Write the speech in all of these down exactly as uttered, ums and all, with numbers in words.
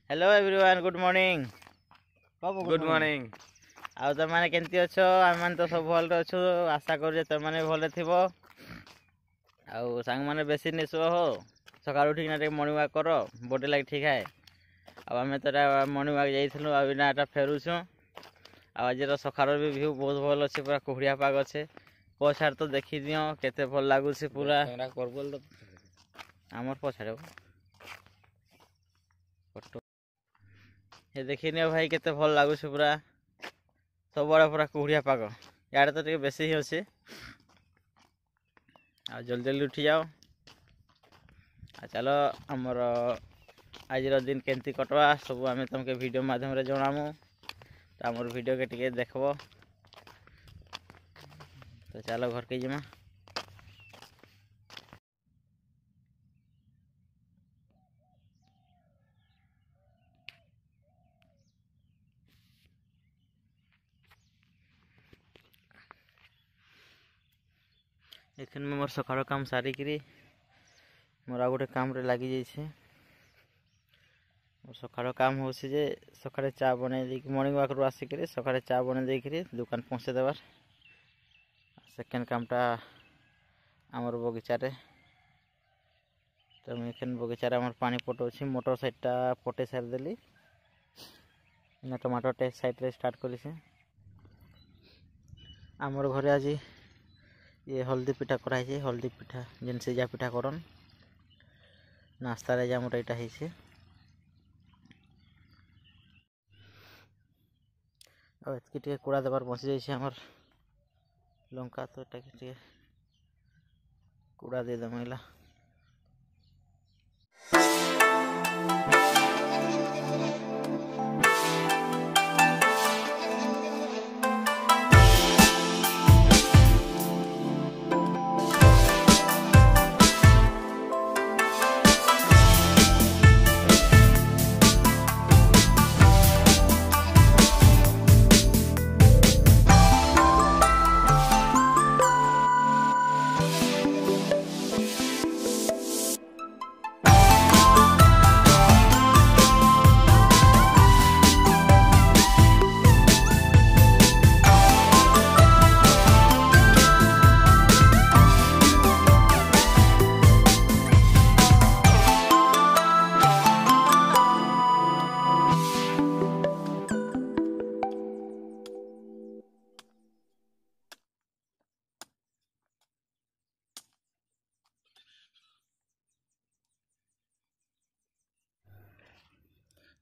Hello everyone, good morning. Good morning. ଆଉ ତମମାନେ କେମିତି ଅଛ? ଆମେମାନେ ତ ସବୁ ଭଲରେ ଅଛୁ। ଆଶା କରୁଛେ ତମମାନେ ଭଲରେ ଥିବ। ଆଉ ସାଙ୍ଗମାନେ, ବେଶୀ ନିଶୁଅ ହୋ, ସକାଳୁ ଉଠିକିନା ଟିକେ ମର୍ଣ୍ଣିଂ ୱାକ୍ କର, ବଡି ଲାଗି ଠିକ୍ ହଏ। ଆଉ ଆମେ ତ ଏଇଟା ମର୍ଣ୍ଣିଂ ୱାକ୍ ଯାଇଥିଲୁ, ଆଉ ଏଇନା ଏଟା ଫେରୁଛୁଁ। ଆଉ ଆଜିର ସକାଳର ବି ଭିଉ ବହୁତ ଭଲ ଅଛି, ପୁରା କୁହୁଡ଼ିଆ ପାଗ ଅଛେ। ପଛଆଡ଼େ ତ ଦେଖିଦିଅ କେତେ ଭଲ ଲାଗୁଛି ପୁରା। ଆମର ପଛଆଡ଼େ ଫଟୋ ଏ ଦେଖିନିଅ ଭାଇ, କେତେ ଭଲ ଲାଗୁଛି ପୁରା। ସବୁଆଡ଼େ ପୁରା କୁହୁଡ଼ିଆ ପାଗ, ଇଆଡ଼େ ତ ଟିକେ ବେଶୀ ହିଁ ଅଛି। ଆଉ ଜଲ୍ଦି ଜଲ୍ଦି ଉଠିଯାଅ ଆଉ ଚାଲ, ଆମର ଆଜିର ଦିନ କେମିତି କଟବା ସବୁ ଆମେ ତମକେ ଭିଡ଼ିଓ ମାଧ୍ୟମରେ ଜଣାମୁ। ତ ଆମର ଭିଡ଼ିଓକେ ଟିକେ ଦେଖବ। ତ ଚାଲ, ଘରକେ ଯିମା। ଏଖନ ମୁଇଁ ମୋର ସକାଳ କାମ ସାରିକିରି ମୋର ଆଉ ଗୋଟେ କାମରେ ଲାଗିଯାଇଛେ। ମୋର ସକାଳ କାମ ହେଉଛି ଯେ ସକାଳେ ଚା ବନେଇ ଦେଇକି, ମର୍ଣ୍ଣିଂ ୱାକ୍ରୁ ଆସିକିରି ସକାଳେ ଚା ବନେଇ ଦେଇକିରି ଦୋକାନ ପହଞ୍ଚେଇ ଦେବାର। ସେକେଣ୍ଡ କାମଟା ଆମର ବଗିଚାରେ। ତ ମୁଇଁ ଏଖେନ୍ ବଗିଚାରେ ଆମର ପାଣି ପଟଉଛି। ମୋଟର ସାଇଡ଼ଟା ପଟେଇ ସାରିଦେଲି, ଏଇନା ଟମାଟୋଟେ ସାଇଡ଼ରେ ଷ୍ଟାର୍ଟ କରିଛେ। ଆମର ଘରେ ଆଜି ଇଏ ହଳଦୀ ପିଠା କରାହେଇଛି, ହଳଦୀ ପିଠା ଯେନ୍ ସିଝା ପିଠା କରନ୍ ନାସ୍ତାରେ, ଆଜି ଆମର ଏଇଟା ହେଇছে। ଆଉ ଏତ୍କି ଟିକେ କୁଡ଼ା ଦେବାର ବଞ୍ଚି ଯାଇଛି ଆମର ଲଙ୍କା, ତ ଏଟାକେ ଟିକେ କୁଡ଼ା ଦେଇଦେମା ଏଲା।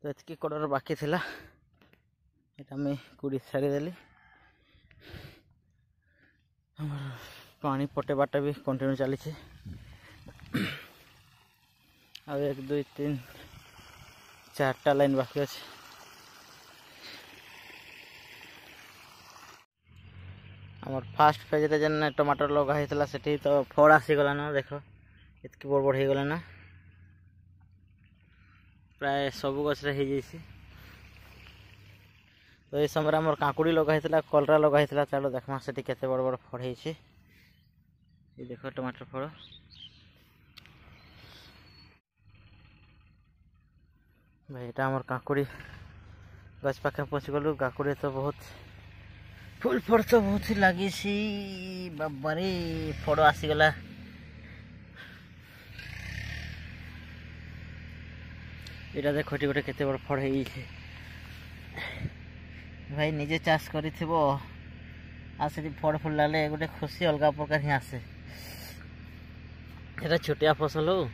ତ ଏତିକି କଡ଼ର ବାକି ଥିଲା, ଏଇଟା ମୁଇଁ କୁଡ଼ି ସାରିଦେଲି। ଆମର ପାଣି ପଟେଇବାଟା ବି କଣ୍ଟିନ୍ୟୁ ଚାଲିছে। ଆଉ ଏକ, ଦୁଇ, ତିନି, ଚାରିଟା ଲାଇନ୍ ବାକି ଅଛି। ଆମର ଫାର୍ଷ୍ଟ ଫେଜ୍ରେ ଯେନ୍ ଟମାଟର ଲଗା ହେଇଥିଲା, ସେଠି ତ ଫଳ ଆସିଗଲାନ। ଦେଖ, ଏତିକି ବଡ଼ ବଡ଼ ହେଇଗଲାନ, ପ୍ରାୟ ସବୁ ଗଛରେ ହେଇଯାଇଛି। ତ ଏଇ ସମୟରେ ଆମର କାକୁଡ଼ି ଲଗା ହେଇଥିଲା, କଲରା ଲଗା ହେଇଥିଲା। ଚାଲ ଦେଖମା ସେଠି କେତେ ବଡ଼ ବଡ଼ ଫଳ ହେଇଛି। ଏଇ ଦେଖ ଟମାଟର ଫଳ। ଭାଇ, ଏଇଟା ଆମର କାକୁଡ଼ି ଗଛ ପାଖେ ପହଞ୍ଚିଗଲୁ। କାକୁଡ଼ି ତ ବହୁତ ଫୁଲ ଫଳ ତ ବହୁତ ଲାଗିଛି। ବାବାରେ, ଫଳ ଆସିଗଲା। ଏଇଟା ଦେଖ, ଏଠି ଗୋଟେ କେତେ ବଡ଼ ଫଳ ହେଇଯାଇଛି। ଭାଇ, ନିଜେ ଚାଷ କରିଥିବ ଆଉ ସେଠି ଫଳ ଫୁଲ ଗୋଟେ ଖୁସି ଅଲଗା ପ୍ରକାର ହିଁ ଆସେ। ଏଟା ଛୋଟିଆ ଫସଲ ହଉ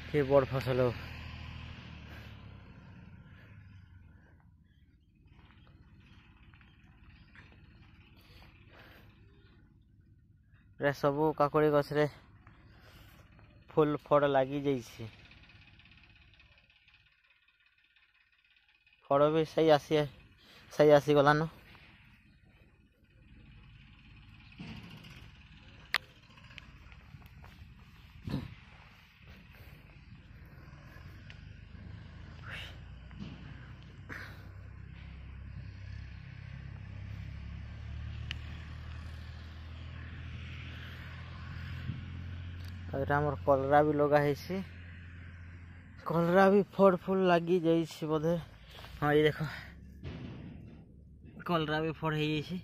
କି ବଡ଼ ଫସଲ ହଉ, ପ୍ରାୟ ସବୁ କାକୁଡ଼ି ଗଛରେ ଫୁଲ ଫଳ ଲାଗି ଯାଇଛି। ଫଳ ବି ସେଇ ଆସି ସେଇ ଆସିଗଲାନ। ଆଉ ଏଇଟା ଆମର କଲରା ବି ଲଗା ହେଇଛି। କଲରା ବି ଫଳ ଫୁଲ ଲାଗି ଯାଇଛି ବୋଧେ। ହଁ, ଏଇ ଦେଖ, କଲରା ବି ଫଳ ହେଇଯାଇଛି।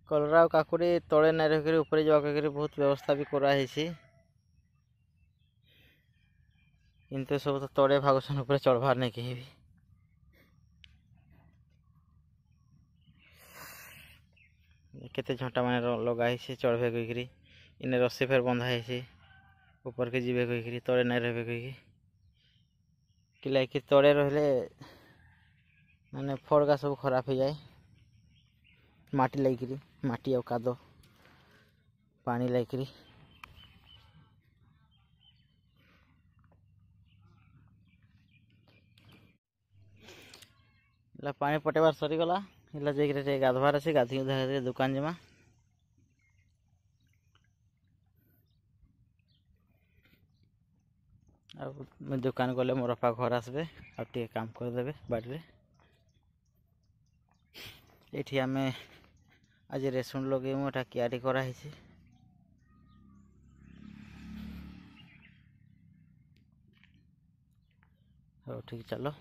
କଲରା ଆଉ କାକୁଡ଼ି ତଳେ ନାଇଁ ରଖିକରି ଉପରେ ଯିବା କହିକରି ବହୁତ ବ୍ୟବସ୍ଥା ବି କରାହେଇଛି, କିନ୍ତୁ ସବୁ ତ ତଳେ ଭାଗୁଛନ୍, ଉପରେ ଚଢ଼ବାର୍ ନାଇଁ କେହି ବି। କେତେ ଝଣ୍ଟା ମାନେ ଲଗା ହେଇଛି ଚଢ଼ବେ କହିକିରି। ଇନେ ରସି ଫେର ବନ୍ଧା ହେଇଛି, ଉପରକେ ଯିବେ କହିକିରି, ତଳେ ନାଇଁ ରହିବେ କହିକି। କି ତଳେ ରହିଲେ ମାନେ ଫଳଗା ସବୁ ଖରାପ ହେଇଯାଏ, ମାଟି ଲାଗିକିରି, ମାଟି ଆଉ କାଦ ପାଣି ଲାଗିକିରି। ହେଲା, ପାଣି ପଟେଇବାର ସରିଗଲା। ହେଲା, ଯାଇକିରି ଟିକେ ଗାଧବାର ଅଛି। ଗାଧି ଗୁଧା ଦୋକାନ ଯିମା। ଆଉ ମୁଇଁ ଦୋକାନ ଗଲେ ମୋର ବାପା ଘର ଆସିବେ ଆଉ ଟିକେ କାମ କରିଦେବେ ବାଡ଼ିରେ। ଏଇଠି ଆମେ ଆଜି ରେସୁଣ ଲଗେଇମୁ, ଏଟା କିଆରି କରାହେଇଛି। ହଉ, ଠିକ୍, ଚାଲ।